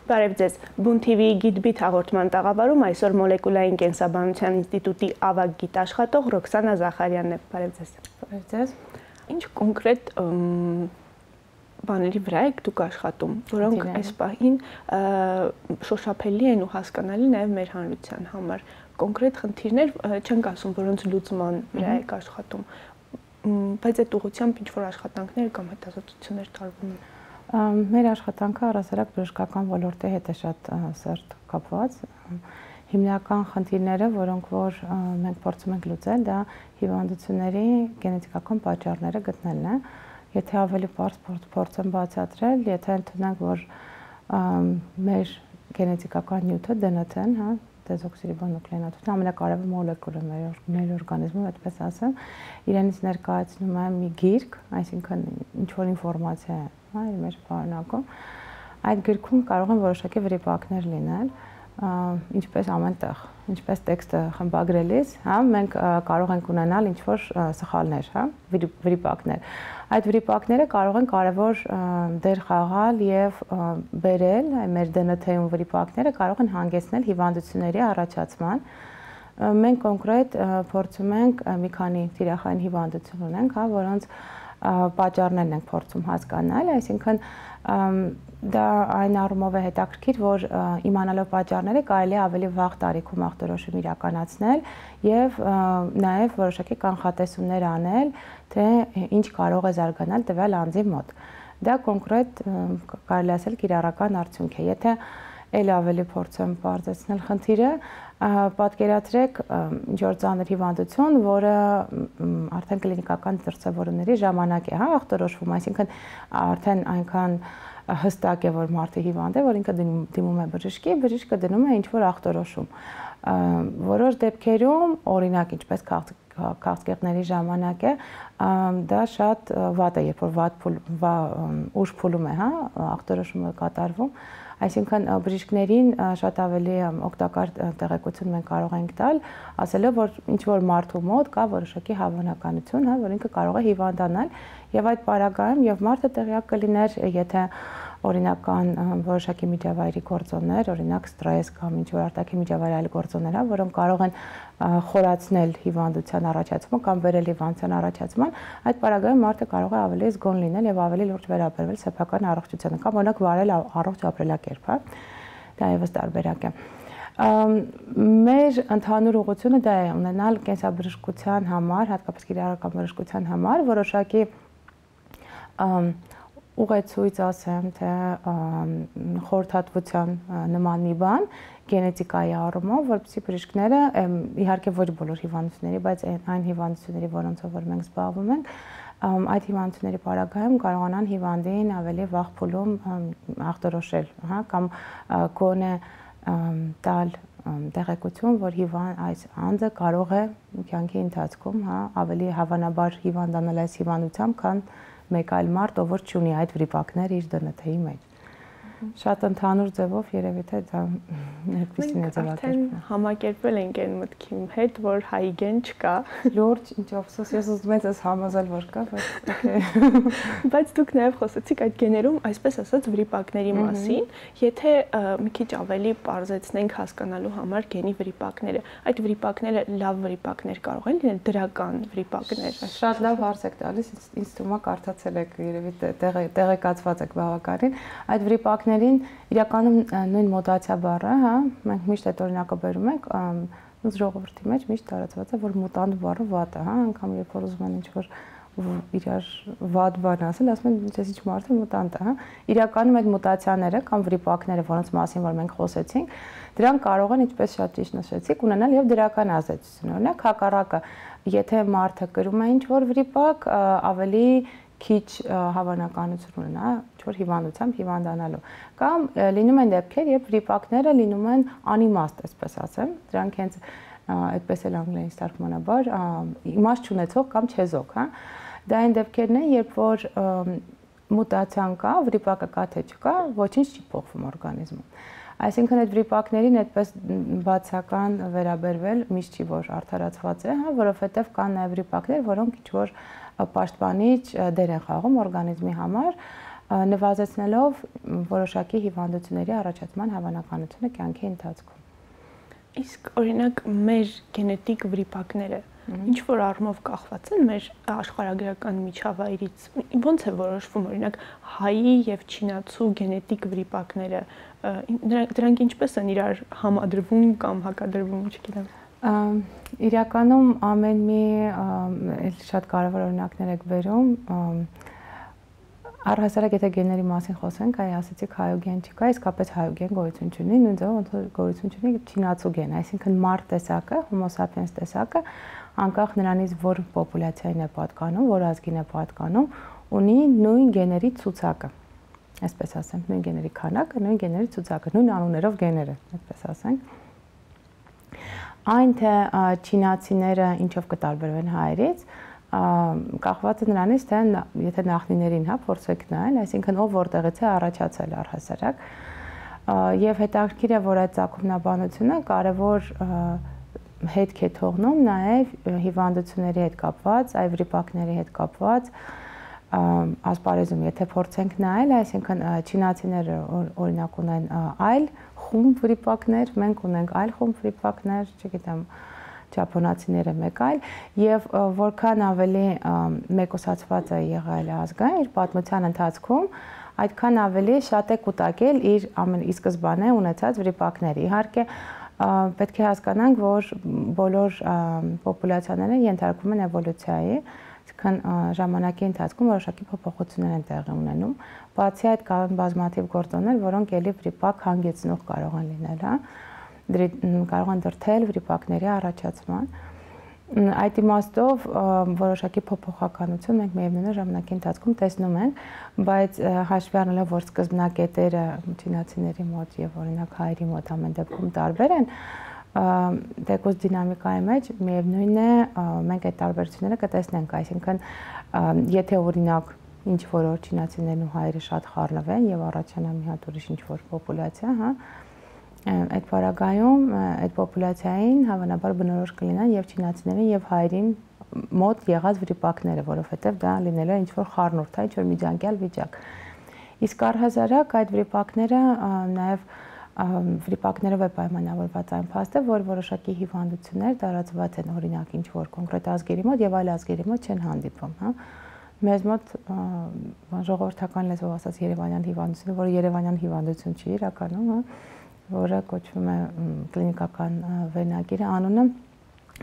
Բարև ձեզ, Բուն TV-ի գիտբիթ հաղորդման տաղավարում այսօր մոլեկուլային կենսաբանության ինստիտուտի ավագ գիտաշխատող Ռոքսանա Զախարյանն է։ Բարև ձեզ։ Բարև ձեզ։ Ինչ կոնկրետ բաների վրա եք դուք աշխատում, որոնք այս պահին շոշափելի են ու հասկանալի նաև մեր հանրության համար։ Կոնկրետ խնդիրներ չենք ասում, որոնց լուծման վրա եք աշխատում, բայց այդ ուղղությամբ ինչ-որ աշխատանքներ կամ հետազոտություններ տարվում են։ Մեր աշխատանքը առհասարակ բժշկական ոլորտի հետ է շատ սերտ կապված։ Հիմնական խնդիրները, որոնք որ մենք փորձում ենք լուծել, դա հիվանդությունների գենետիկական պատճառները գտնելն է։ Եթե ավելի բարձր փորձեմ բացատրել, եթե ընդունենք, որ մեր գենետիկական նյութը DNT-ն, հա, դեզօքսիրիբոնուկլեինաթթուն ամենակարևոր մոլեկուլը մեր օրգանիզմում, այդպես ասեմ, իրենից ներկայացնում է մի գիրք, այսինքն ինչ-որ ինֆորմացիա է, հա, իր մեջ պարունակում։ Այդ գրքում կարող են որոշակի վրիպակներ լինել, ինչպես ամենտեղ, ինչպես տեքստը խմբագրելիս, հա, մենք կարող ենք ունենալ ինչ-որ սխալներ, հա, վրիպակներ։ Այդ վրիպակները կարող են կարևոր դեր խաղալ եւ բերել մեր DNT-ում վրիպակները կարող են հանգեցնել հիվանդությունների առաջացման։ Մենք կոնկրետ փորձում ենք մի քանի տիրախային հիվանդություն ունենք, հա, որոնց պատճառներն ենք փորձում հասկանալ, այսինքն դա այն առումով է հետաքրքիր, որ իմանալով պատճառները կարելի է ավելի վաղ տարիքում ախտորոշում իրականացնել եւ նաեւ որոշակի կանխատեսումներ անել, թե ինչ կարող է զարգանալ տվյալ անձի մոտ։ Դա կոնկրետ կարելի ասել կիրառական արդյունք է։ Եթե ել ավելի փորձեմ բարձրացնել խնդիրը, պատկերացրեք ինչ-որ ծանր հիվանդություն, որը արդեն կլինիկական դրսևորումների ժամանակ է, հա, ախտորոշվում, այսինքն արդեն այնքան հստակ է, որ մարդը հիվանդ է, որ ինքը դիմում է բժշկի, բժիշկը դնում է ինչ-որ ախտորոշում։ Որոշ դեպքերում, օրինակ, ինչպես քաղցկեղների ժամանակ է, դա շատ վատ է, երբ որ ուշ փուլում է, հա, ախտորոշումը կատարվում, այսինքն բժիշկներին շատ ավելի օգտակար տեղեկություն մենք կարող ենք տալ, ասելով, որ ինչ-որ մարդու մոտ կա որոշակի հավանականություն, հա, որ ինքը կարող է հիվանդանալ, եւ այդ պարագայում եւ մարդը տեղյակ կլիներ, եթե օրինական որոշակի միջավայրի գործոններ, օրինակ ստրես կամ ինչ-որ արտաքին միջավայրի այլ գործոններ, հա, որոնք կարող են խորացնել հիվանդության առաջացումը կամ բերել հիվանդության առաջացման, այդ պարագայում մարդը կարող է ավելի զգոն լինել եւ ավելի լուրջ վերաբերվել սեփական առողջությանը կամ օրինակ վարել առողջ ապրելակերպ, հա, դա եւս տարբերակ է։ Մեր ընդհանուր ուղղությունը դա է ունենալ կենսաբժշկության համար, հատկապես կիրառական բժշկության համար որոշակի ուղեցույց ասեմ, թե խորհրդատվության նման մի բան գենետիկայի առումով, որպեսզի բժիշկները իհարկե ոչ բոլոր հիվանդությունների, բայց այն հիվանդությունների, որոնցով որ մենք զբաղվում ենք, այդ հիվանդությունների պարագայում կարողանան հիվանդին ավելի վաղ փուլում ախտորոշել, հա, կամ գոնե տալ տեղեկություն, որ այս անձը կարող է կյանքի ընթացքում, հա, ավելի հավանաբար հիվանդանալ այս հիվանդությամբ, քան մեկ այլ մարդ, ով որ չունի այդ վրիպակները իր DNT-ի մեջ։ Շատ ընդհանուր ձևով երևի թե դա այդպեսին է ձևակերպվում։ Արդեն համակերպվել ենք այն մտքի հետ, որ հայգեն չկա։ Լուրջ, ինչ ափսոս, ես ուզում եմ ես համոզել, որ կա, բայց օքեյ։ Բայց դուք նաև խոսեցիք այդ գեներում, այսպես ասած, վրիպակների մասին, եթե մի քիչ ավելի պարզեցնենք հասկանալու համար գենի վրիպակները, այդ վրիպակները լավ վրիպակներ կարող են լինել, դրական վրիպակներ։ Շատ լավ հարց եք տալիս, ինձ թվում է կարդացել եք, երևի տեղեկացված եք բավականին։ Այդ վրիպակներին իրականում նույն մուտացիա բառը, հա, մենք միշտ այդ օրինակը բերում ենք, ժողովրդի մեջ միշտ տարածված է, որ մուտանտ բառը վատ է, հա, անգամ երբ որ ուզում են ինչ-որ իրար վատ բան ասել, ասում են ինչ ինչ մարդը մուտանտ է, հա։ Իրականում այդ մուտացիաները կամ վրիպակները, որոնց մասին որ մենք խոսեցինք, դրանք կարող են, ինչպես շատ ճիշտ նշեցիք, ունենալ եւ դրական ազդեցություն։ Օրինակ, հակառակը, եթե մարդը կրում է ինչ-որ վրիպակ, ավելի քիչ հավանականություն ունենա ինչ-որ հիվանդությամբ հիվանդանալու։ Կամ լինում են դեպքեր, երբ վրիպակները լինում են անիմաստ, այսպես ասեմ, դրանք հենց այդպես էլ անգլերենից թարգմանաբար իմաստ չունեցող կամ չեզոք, հա։ Դա այն դեպքերն են, երբ որ մուտացիան կա, վրիպակը կա թե չկա, ոչինչ չի փոխվում օրգանիզմում։ Այսինքն այդ վրիպակներին այդպես բացական վերաբերվել միշտ չի որ արդարացված է, հա, որովհետև կան նաև վրիպակներ, որոնք ինչ որ պաշտպանիչ դեր են խաղում օրգանիզմի համար, նվազեցնելով որոշակի հիվանդությունների առաջացման հավանականությունը կյանքի ընթացքում։ Իսկ օրինակ մեր գենետիկ վրիպակները ինչ որ առումով կախված են մեր աշխարհագրական միջավայրից, ո՞նց է որոշվում օրինակ հայի եւ չինացու գենետիկ վրիպակները, դրանք ինչպես են իրար համադրվում կամ հակադրվում, չգիտեմ։ Իրականում ամեն մի շատ կարևոր օրինակներ եք բերում, առհասարակ եթե գեների մասին խոսենք, այ ասացիք հայոգեն չկա, իսկապես հայոգեն գոյություն չունի, նույն ձևով ոնց որ գոյություն չունի չինացու գեն, այսինքն մարդ տեսակը, Homo sapiens տեսակը, անկախ նրանից որ պոպուլյացիային է պատկանում, որ ազգին է պատկանում, ունի նույն գեների ցուցակը, այսպես ասեմ, նույն գեների քանակը, նույն գեների ցուցակը, նույն անուններով գեները, այսպես ասենք։ Այն թե չինացիները ինչով կտարբերվեն հայերից, կախված է նրանից, թե եթե նախնիներին փորձեք նայել, այսինքն ով որտեղից է առաջացել առհասարակ, եւ հետաքրքիր է, որ այդ ցակումնաբանությունը կարևոր հետք է թողնում նաեւ հիվանդությունների հետ կապված, այ վրիպակների հետ կապված ասպարեզում, եթե փորձենք նայել, այսինքն չինացիները օրինակ ունեն այլ խումբ վրիպակներ, մենք ունենք այլ խումբ վրիպակներ, չգիտեմ, ճապոնացիները մեկ այլ, եւ որքան ավելի մեկուսացված է եղել ազգը իր պատմության ընթացքում, այդքան ավելի շատ է կուտակել իր ի սկզբանե ունեցած վրիպակները։ Իհարկե պետք է հասկանանք, որ բոլոր պոպուլյացիաները ենթարկվում են էվոլյուցիայի, այսինքն ժամանակի ընթացքում որոշակի փոփոխություններ են տեղի ունենում։ Բացի այդ կան բազմաթիվ գործոններ, որոնք ելի վրիպակ հանգեցնող կարող են լինել, կարող են դրդել վրիպակների առաջացման։ Այդ իմաստով որոշակի փոփոխականություն մենք միևնույն ժամանակի ընթացքում տեսնում ենք, բայց հաշվի առնելով, որ սկզբնակետերը չինացիների մոտ եւ օրինակ հայերի մոտ ամեն դեպքում տարբեր են, դեկոս դինամիկայի մեջ միևնույն է մենք այդ տարբերությունները կտեսնենք, այսինքն եթե օրինակ ինչ որ չինացիներն ու հայերը շատ խառնվեն եւ առաջանա մի հատ ուրիշ ինչ որ պոպուլյացիա, հա, այդ պարագայում այդ պոպուլյացիային հավանաբար բնորոշ կլինեն եւ չինացիներին եւ հայերին մոտ եղած վրիպակները, որովհետեւ դա լինելու է ինչ որ խառնուրդ, ինչ որ միջանկյալ վիճակ։ Իսկ առհասարակ այդ վրիպակները նաեւ վրիպակներով է պայմանավորված այն փաստը, որ որոշակի հիվանդություններ տարածված են օրինակ ինչ որ կոնկրետ ազգերի մոտ եւ այլ ազգերի մոտ չեն հանդիպում, հա։ Մեզ մոտ ժողովրդական լեզվով ասած երևանյան հիվանդությունը, որը երևանյան հիվանդություն չի իրականում, հա, որը կոչվում է կլինիկական վերնագիրը, անունը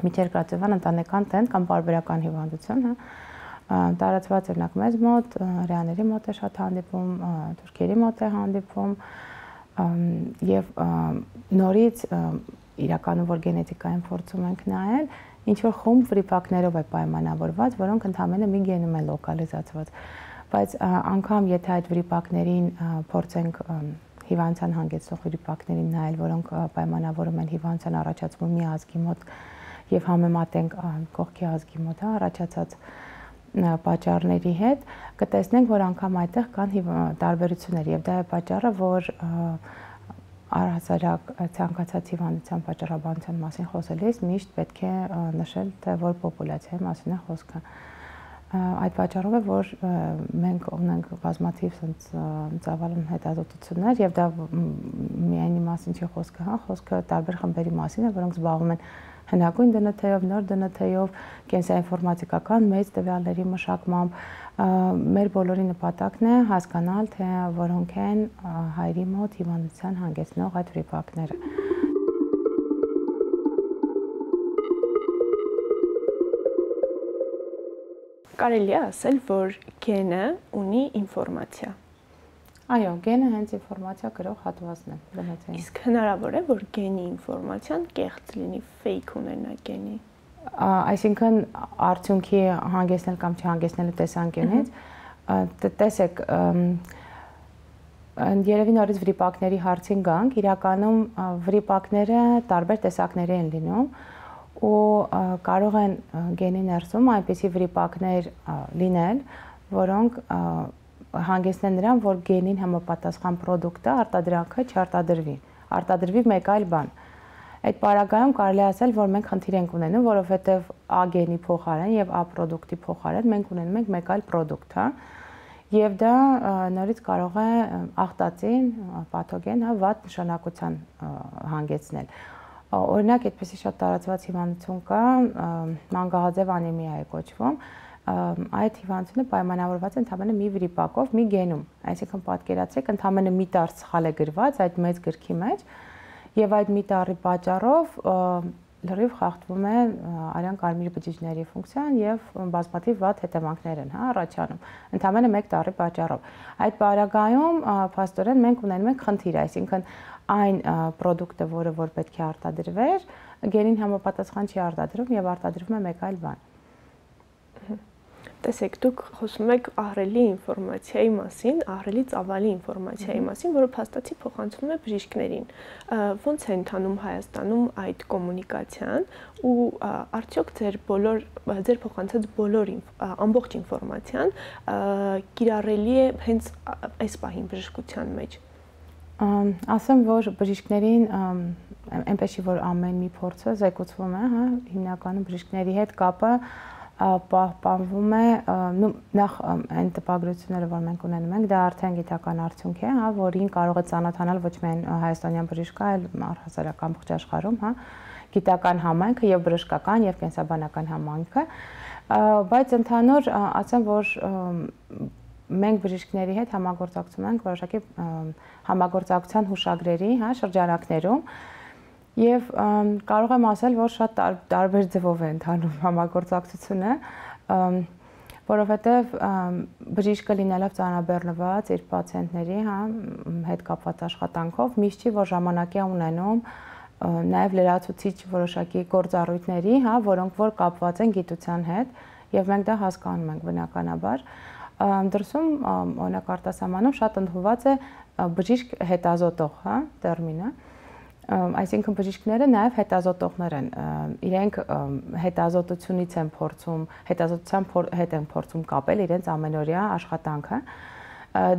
միջերկրածովյան ընտանեկան տենդ կամ պարբերական հիվանդություն, հա, տարածված օրինակ մեզ մոտ, հրեաների մոտ է շատ հանդիպում, թուրքերի մոտ է հանդիպում եւ նորից իրականում որ գենետիկային փորձում ենք նայել, ինչ որ խումբ վրիպակներով է պայմանավորված, որոնք ընդհանրապես մի գենում են լոկալիզացված, բայց անգամ եթե այդ վրիպակներին փորձենք հիվանդության հանգեցնող վրիպակներին նայել, որոնք պայմանավորում են հիվանդության առաջացում մի ազգի մոտ եւ համեմատենք կողքի ազգի մոտ առաջացած պատճառների հետ, կտեսնենք, որ անգամ այդտեղ կան տարբերություններ եւ դա է պատճառը, որ առհասարակ ցանկացած հիվանդության պատճառաբանության մասին խոսելիս միշտ պետք է նշել, թե որ պոպուլյացիայի մասին է խոսքը։ Այդ պատճառով է, որ մենք ունենք բազմաթիվ ծավալուն հետազոտություններ եւ դա միայն մասին չի խոսքը, հա, խոսքը տարբեր խմբերի մասին է, որոնք զբաղվում են հնագույն դնթեով, նոր դնթեով, կենսաինֆորմատիկական մեծ տվյալների մշակմամբ, մեր բոլորի նպատակն է հասկանալ, թե որոնք են հայերի մոտ հիվանդության հանգեցնող այդ վրիպակները։ Կարելի է ասել, որ գենը ունի ինֆորմացիա։ Այո, գենը հենց ինֆորմացիա կրող հատվածն է բնածին։ Իսկ հնարավոր է, որ գենի ինֆորմացիան կեղծ լինի, fake ունենա գենի։ Այսինքն արդյունքի հանգեցնել կամ չհանգեցնելու տեսանկյունից, տեսեք, երևի նորից վրիպակների հարցին գանք, իրականում վրիպակները տարբեր տեսակների են լինում ու կարող են գենի ներսում այնպիսի վրիպակներ լինել, որոնք հանգեցնեն նրան, որ գենին համապատասխան պրոդուկտը արտադրանքը չարտադրվի մեկ այլ բան։ Այդ պարագայում կարելի է ասել, որ մենք խնդիր ենք ունենում, որովհետև A գենի փոխարեն եւ A պրոդուկտի փոխարեն մենք ունենում ենք մեկ այլ պրոդուկտ, հա։ եւ դա նորից կարող է աղտածին, պաթոգեն, հա, վատ նշանակության հանգեցնել։ Օրինակ, այդպեսի շատ տարածված հիվանդություն կա, մանգաղաձև անեմիա է կոչվում։ Այդ հիվանդությունը պայմանավորված է ընդհանրապես մի վրիպակով, մի գենում։ Այսինքն պատկերացրեք, ընդհանրապես մի տառ սխալ է գրված այդ մեծ գրքի մեջ, եւ այդ մի տառի պատճառով լրիվ խախտվում է արյան կարմիր բջիջների ֆունկցիան եւ բազմաթիվ վատ հետևանքներ են, հա, առաջանում։ Ընդհանրապես մեկ տառի պատճառով։ Այդ պարագայում փաստորեն մենք ունենում ենք խնդիր, այսինքն այն պրոդուկտը, որ պետք է արտադրվեր, գենին համապատասխան չի արտադրվում եւ արտադրվում է մեկ այլ բան։ Տեսեք, դուք խոսում եք ահռելի ինֆորմացիայի մասին, ահռելի ծավալի ինֆորմացիայի մասին, որը փաստացի փոխանցվում է բժիշկներին։ Ոնց է ընթանում Հայաստանում այդ կոմունիկացիան ու արդյոք ձեր փոխանցած բոլոր ամբողջ ինֆորմացիան կիրառելի է հենց այս պահին բժշկության մեջ։ Ասեմ, որ բժիշկներին այնպես չի, որ ամեն մի փորձը զեկուցվում է, հա, հիմնականում բժիշկների հետ կապը պահպանվում է, նախ այն տպագրությունները, որ մենք ունենում ենք, դա արդեն գիտական արդյունք է, հա, որին կարող է ծանոթանալ ոչ միայն հայաստանյան բժիշկը, այլ առհասարակ ամբողջ աշխարհում, հա, գիտական համայնքը եւ բժշկական եւ կենսաբանական համայնքը, բայց ընդհանուր ասեմ, որ մենք բժիշկների հետ համագործակցում ենք որոշակի համագործակցության հուշագրերի, հա, շրջանակներում եւ կարող եմ ասել, որ շատ տարբեր ձևով է ընթանում համագործակցությունը, որովհետեւ բժիշկը լինելով ծանրաբեռնված իր պացիենտների, հա, հետ կապված աշխատանքով, միշտ չի որ ժամանակ է ունենում նաեւ լրացուցիչ որոշակի գործառույթների, հա, որոնք որ կապված են գիտության հետ եւ մենք դա հասկանում ենք բնականաբար։ Դրսում օրինակ արտասահմանում շատ ընդունված է բժիշկ հետազոտող, հա, տերմինը, այսինքն բժիշկները նաև հետազոտողներ են, իրենք հետազոտությունից են փորձում, հետազոտության հետ են փորձում կապել իրենց ամենօրյա աշխատանքը,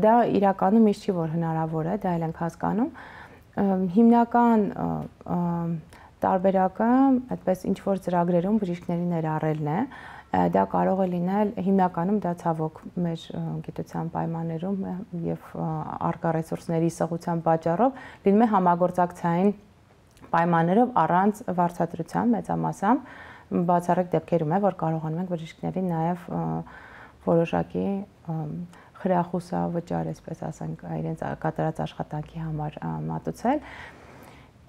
դա իրականում միշտ չի որ հնարավոր է, դա էլ ենք հասկանում, հիմնական տարբերակը այդպես ինչ որ ծրագրերում բժիշկների ներառելն է, դա կարող է լինել հիմնականում դա ցավոք մեր գիտության պայմաններում եւ առկա ռեսուրսների սղության պատճառով լինում է համագործակցային պայմաններով առանց վարձատրության մեծամասամբ բացառիկ դեպքերում է որ կարողանում ենք բժիշկներին նաեւ որոշակի խրախուսավճար, այսպես ասենք, իրենց կատարած աշխատանքի համար մատուցել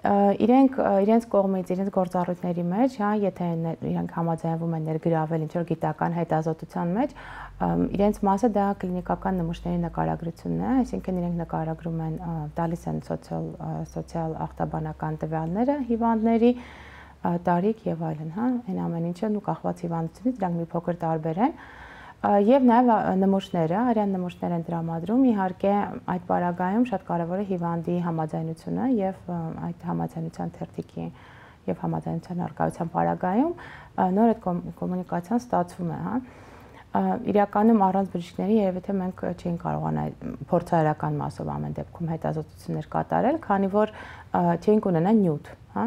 իրենց կողմից, իրենց գործառույթների մեջ, հա, եթե իրենք համաձայնվում են ներգրավել ինչ-որ գիտական հետազոտության մեջ, իրենց մասը դա կլինիկական նմուշների նկարագրությունն է, այսինքն իրենք նկարագրում են, տալիս են սոցիալ ախտաբանական տվյալները հիվանդների, տարիք եւ այլն, հա, այն ամեն ինչը ու կախված հիվանդությունից դրանք մի փոքր տարբեր են։ Եվ նաև նմուշները, արյան նմուշներ են տրամադրում, իհարկե այդ պարագայում շատ կարևոր է հիվանդի համաձայնությունը եւ այդ համաձայնության թերթիկի եւ համաձայնության արկայության պարագայում նոր այդ կոմունիկացիան ստացվում է, հա։ Իրականում առանց բժիշկների երևի թե մենք չէինք կարողանա փորձարարական մասով ամեն դեպքում հետազոտություններ կատարել, քանի որ չէինք ունենա նյութ, հա,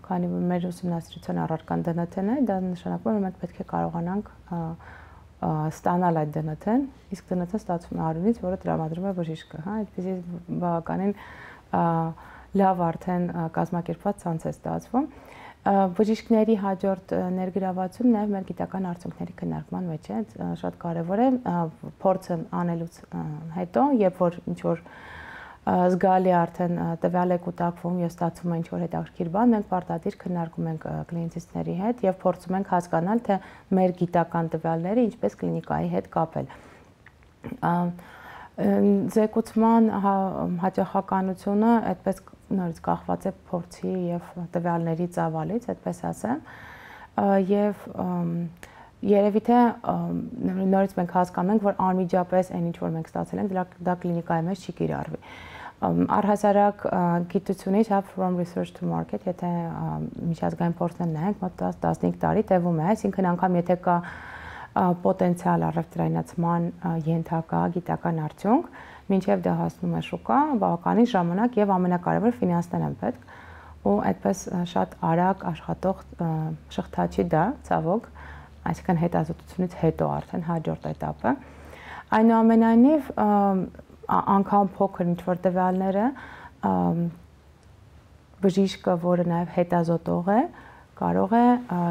քանի որ մեր ուսումնասիրության առարկան ԴՆԹ-ն է, դա նշանակում է մենք պետք է կարողանանք ստանալ այդ ԴՆԹ-ն, իսկ ԴՆԹ-ն ստացվում է արյունից, որը տրամադրում է բժիշկը, հա, այդպեսի բավականին լավ արդեն կազմակերպված ցանց է ստացվում։ Բժիշկների հաջորդ ներգրավվածությունը նաև մեր գիտական արդյունքների քննարկման մեջ է, շատ կարևոր է փորձը անելուց հետո, երբ որ ինչ որ զգալի արդեն տվյալ է կուտակվում եւ ստացվում է ինչ որ հետաքրքիր բան, մենք պարտադիր քննարկում ենք կլինիցիստների հետ եւ փորձում ենք հասկանալ, թե մեր գիտական տվյալները ինչպես կլինիկայի հետ կապել։ Զեկուցման հաճախականությունը այդպես նորից կախված է փորձի եւ տվյալների ծավալից, այդպես ասեմ, եւ երևի թե նորից մենք հասկանում ենք, որ անմիջապես այն ինչ որ մենք ստացել ենք, դա կլինիկայի մեջ չի կիրառվի։ Առհասարակ գիտությունից from research to market, եթե միջազգային փորձն նայենք, մոտ 10-15 տարի տևում է, այսինքն անգամ եթե կա պոտենցիալ առևտրայնացման ենթակա գիտական արդյունք, մինչև դա հասնում է շուկա, բավականին ժամանակ եւ ամենակարևորը ֆինանսներ են պետք, ու այդպես շատ արագ աշխատող շղթա չի դա, ցավոք, այսինքն հետազոտությունից հետո արդեն հաջորդ этаպը։ Այնուամենայնիվ անգամ փոքր ինչ-որ տվյալները բժիշկը, որը նաև հետազոտող է, կարող է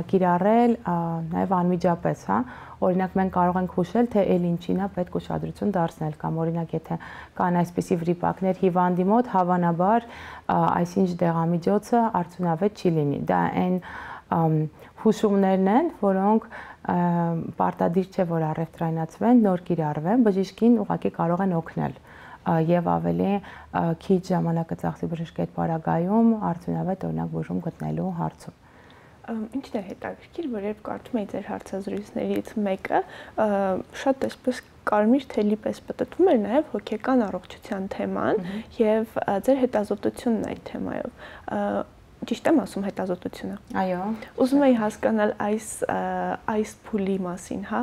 կիրառել նաև անմիջապես, հա, օրինակ մենք կարող ենք հուշել, թե այլ ինչին է պետք ուշադրություն դարձնել կամ օրինակ եթե կան այսպիսի վրիպակներ հիվանդի մոտ, հավանաբար այսինչ դեղամիջոցը արդյունավետ չի լինի։ Դա այն հուշումներն են, որոնք պարտադիր չէ, որ առևտրայնացվեն, նոր կիրառվեն, բժիշկին ուղղակի կարող են օգնել եւ ավելի քիչ ժամանակը ծախսի բժշկի հետ պարագայում արդյունավետ օրինակ բուժում գտնելու հարցում։ Ինչն է հետաքրքիր, որ երբ կարդում էի ձեր հարցազրույցներից մեկը, շատ այսպես կարմիր թելի պես պտտվում էր նաև հոգեկան առողջության թեման եւ ձեր հետազոտությունն այդ թեմայով։ Ճիշտ եմ ասում հետազոտությունը։ Այո։ Ուզում էի հասկանալ այս փուլի մասին, հա,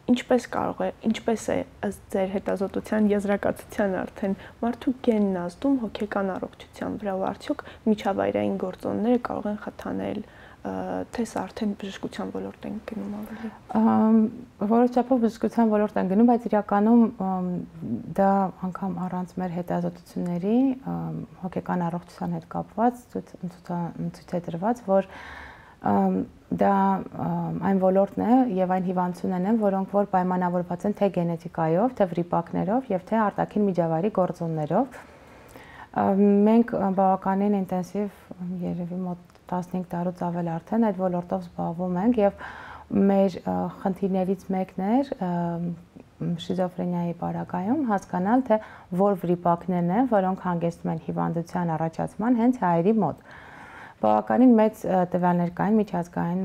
ինչպես է ըստ ձեր հետազոտության եզրակացության արդեն մարդու գենն ազդում հոգեկան առողջության վրա, ու արդյոք միջավայրային գործոնները կարող են խթանել, թե սա արդեն բժշկության ոլորտ են գնում ավելի։ Որոշ չափով բժշկության ոլորտ են գնում, բայց իրականում դա անգամ առանց մեր հետազոտությունների հոգեկան առողջության հետ կապված ցույց է տրված, որ դա այն ոլորտն է եւ այն հիվանդություններն են, որոնք որ պայմանավորված են թե գենետիկայով, թե վրիպակներով եւ թե արտաքին միջավայրի գործոններով։ Մենք բավականին ինտենսիվ երևի մոտ 15 տարուց ավել արդեն այդ ոլորտով զբաղվում ենք եւ մեր խնդիրներից մեկն էր շիզոֆրենիայի պարագայում հասկանալ, թե որ վրիպակներն են, որոնք հանգեցնում են հիվանդության առաջացման հենց հայերի մոտ։ Բավականին մեծ տվյալներ կային միջազգային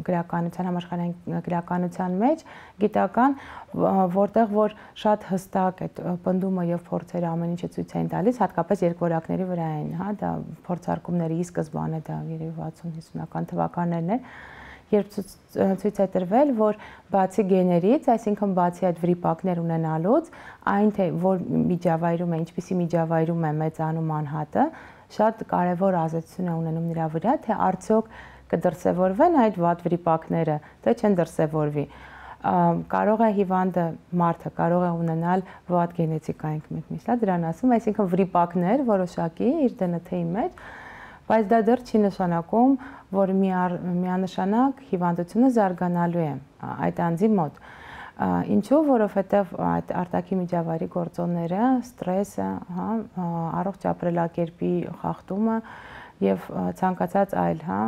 գրականության, համաշխարհային գրականության մեջ, գիտական, որտեղ որ շատ հստակ այդ պնդումը եւ փորձերը ամեն ինչը ցույց էին տալիս, հատկապես երկվորյակների վրա էին, հա, դա փորձարկումների ի սկզբանե դա երևի 60-50-ական թվականներն են, երբ ցույց է տրվել, որ բացի գեներից, այսինքն բացի այդ վրիպակներ ունենալուց, այն թե որ միջավայրում է, ինչպիսի միջավայրում է մեծանում անհատը, շատ կարևոր ազդեցություն է ունենում նրա վրա, թե արդյոք կդրսևորվեն այդ վատ վրիպակները, թե չեն դրսևորվի։ Կարող է հիվանդը մարդը կարող է ունենալ վատ գենետիկա, մենք միշտ դրան ասում, այսինքն վրիպակներ որոշակի իր ԴՆԹ-ի մեջ, բայց դա դեռ չի նշանակում, որ միանշանակ հիվանդությունը զարգանալու է այդ անձի մոտ։ Ինչու, որովհետև այդ արտաքին միջավայրի գործոնները, ստրեսը, հա, առողջ ապրելակերպի խախտումը եւ ցանկացած այլ, հա,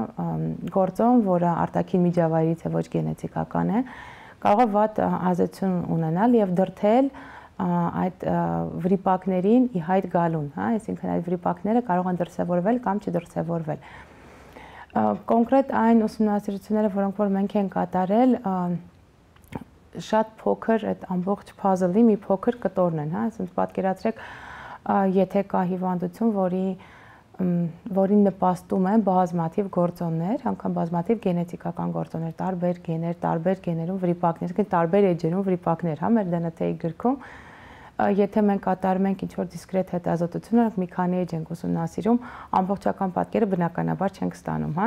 գործոն, որը արտաքին միջավայրից է, ոչ գենետիկական է, կարող է վատ ազդեցություն ունենալ եւ դրթել այդ վրիպակներին ի հայտ գալուն, հա, այսինքն այդ վրիպակները կարող են դրսևորվել կամ չդրսևորվել։ Կոնկրետ այն ուսումնասիրությունները, որոնք որ մենք ենք կատարել, շատ փոքր այդ ամբողջ puzzle-ի մի փոքր կտորն են, հա, ասենք պատկերացրեք, եթե կա հիվանդություն, որին նպաստում են բազմաթիվ գործոններ, անգամ բազմաթիվ գենետիկական գործոններ, տարբեր գեներ, տարբեր գեներում վրիպակներ, այսինքն տարբեր էջերում վրիպակներ, հա, մեր ԴՆԹ-ի գրքում, եթե մենք կատարում ենք ինչ-որ դիսկրետ հետազոտություն, մի քանի էջ ենք ուսումնասիրում, ամբողջական պատկերը բնականաբար չենք ստանում, հա։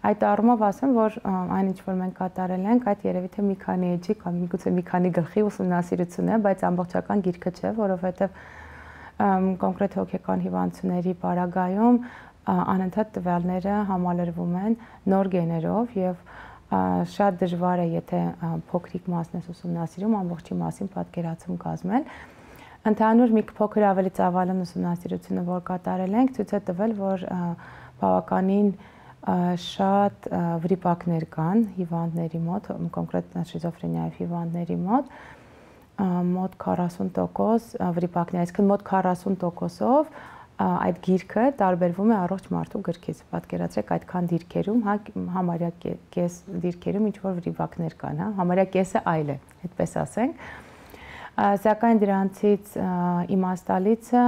Այդ առումով ասեմ, որ այն ինչ որ մենք կատարել ենք, այդ երևի թե մի քանի էջի կամ միգուցե մի քանի գլխի ուսումնասիրություն է, բայց ամբողջական գիրքը չէ, որովհետև կոնկրետ հոգեկան հիվանդությունների պարագայում անընդհատ տվյալները համալրվում են նոր գեներով եւ շատ դժվար է, եթե փոքրիկ մասն է ուսումնասիրում, ամբողջի մասին պատկերացում կազմել։ Ընդհանուր մի փոքր ավելի ծավալուն ուսումնասիրությունը, որ կատարել ենք, ցույց է տվել, որ բավականին շատ վրիպակներ կան հիվանդների մոտ, կոնկրետ շիզոֆրենիայի հիվանդների մոտ, մոտ 40% վրիպակներ, այսինքն մոտ 40%-ով այդ գիրքը տարբերվում է առողջ մարդու գրքից։ Պատկերացրեք այդքան դիրքերում, հա, համարյա կես դիրքերում ինչ որ վրիպակներ կան, հա, համարյա կեսը այլ է, այդպես ասենք։ Սակայն դրանցից իմաստալիցը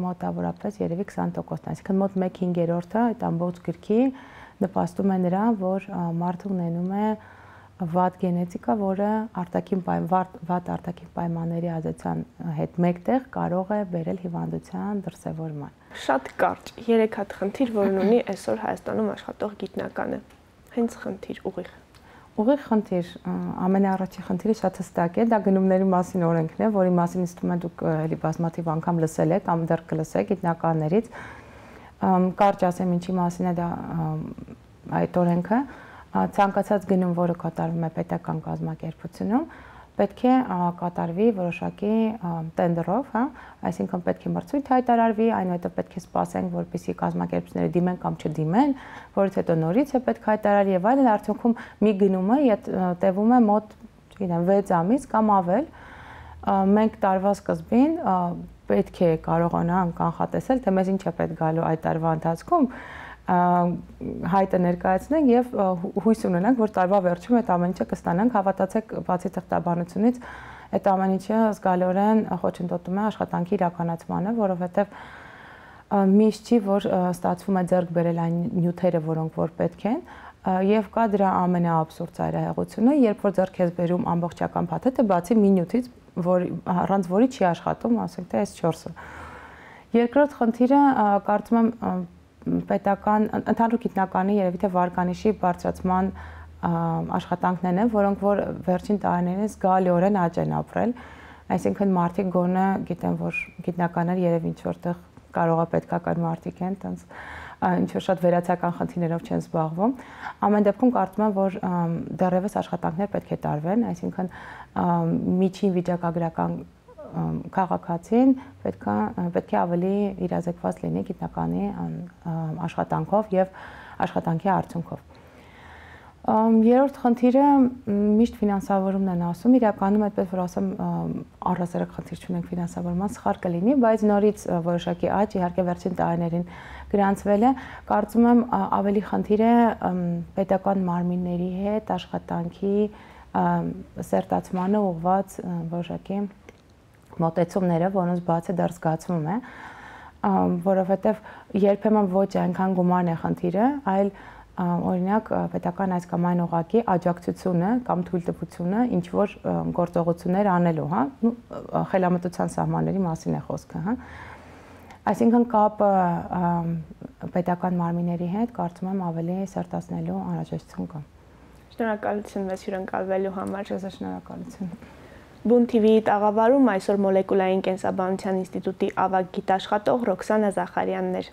մոտավորապես երևի 20%-ն, այսինքն մոտ 1/5-ը այդ ամբողջ գրքի նպաստում է նրան, որ մարդը ունենում է վատ գենետիկա, որը վատ արտաքին պայմանների ազդեցության հետ մեկտեղ կարող է բերել հիվանդության դրսևորման։ Շատ կարճ 3 հատ խնդիր, որն ունի այսօր Հայաստանում աշխատող գիտնականը։ Հենց խնդիր ուղիղ։ Ուղիղ խնդիր, ամենաառաջի խնդիրը շատ հստակ է, դա գնումների մասին օրենքն է, որի մասին ինձ թվում է դուք էլի բազմաթիվ անգամ լսել եք կամ դեռ կլսեք գիտնականներից։ Կարճ ասեմ ինչի մասին է դա այդ օրենքը, ցանկացած գնում, որը կատարվում է պետական կազմակերպությունում, պետք է կատարվի որոշակի տենդերով, հա, այսինքն պետք է մրցույթ հայտարարվի, այնուհետև պետք է սպասենք, որպեսզի կազմակերպությունները դիմեն կամ չդիմեն, որից հետո նորից է պետք հայտարարի եւ այլն, արդյունքում մի գնումը տևում է մոտ, չգիտեմ, 6 ամիս կամ ավել։ Մենք տարվա սկզբին պետք է կարողանանք կանխատեսել, թե մեզ ինչ է պետք գալու այդ տարվա ընթացքում, հայտը ներկայացնենք եւ հույս ունենանք, որ տարվա վերջում այդ ամեն ինչը կստանանք, հավատացեք, բացի թղթաբանությունից, այդ ամեն ինչը զգալիորեն խոչընդոտում է աշխատանքի իրականացմանը, որովհետեւ միշտ չի, որ ստացվում է ձեռք բերել այն նյութերը, որոնք որ պետք են, եւ կա դրա ամենաաբսուրդ ծայրահեղությունը, երբ որ ձեռք ես բերում ամբողջական փաթեթը, բացի մի նյութից, առանց որի չի աշխատում, ասենք թե այս 4-ը։ Երկրորդ խնդիրը կարծում եմ պետական ընդհանուր գիտնականի երևի թե վարկանիշի բարձրացման աշխատանքներն են, որոնք որ վերջին տարիներին զգալիորեն աճ են ապրել, այսինքն մարդիկ գոնե գիտեն, որ գիտնականներ երևի ինչ որտեղ կարող է պետքական մարդիկ են, տենց ինչ որ շատ վերացական խնդիրներով չեն զբաղվում։ Ամեն դեպքում կարծում եմ, որ դեռևս աշխատանքներ պետք է տարվեն, այսինքն միջին վիճակագրական քաղաքացին պետք է ավելի իրազեկված լինի գիտնականի աշխատանքով եւ աշխատանքի արդյունքով։ Երրորդ խնդիրը միշտ ֆինանսավորումն են ասում, իրականում այդպես որ ասեմ առհասարակ խնդիր չունենք ֆինանսավորման, սխալ կլինի, բայց նորից որոշակի աճ իհարկե վերջին տարիներին գրանցվել է, կարծում եմ ավելի խնդիր է պետական մարմինների հետ աշխատանքի սերտացմանը ուղղված որոշակի մոտեցումները, որոնց բացը դեռ զգացվում է, որովհետև երբեմն ոչ այնքան գումարն է խնդիրը, այլ օրինակ պետական այս կամ այն օղակի աջակցությունը կամ թույլտվությունը ինչ որ գործողություններ անելու, հա, խելամտության սահմանների մասին է խոսքը, հա։ Այսինքն կապը պետական մարմինների հետ կարծում եմ ավելի սերտացնելու անհրաժեշտություն կա։ Շնորհակալություն մեզ հյուրընկալվելու համար։ Ձեզ շնորհակալություն։ Բուն TV-ի տաղավարում այսօր մոլեկուլային կենսաբանության ինստիտուտի ավագ գիտաշխատող Ռոքսանա Զախարյանն էր։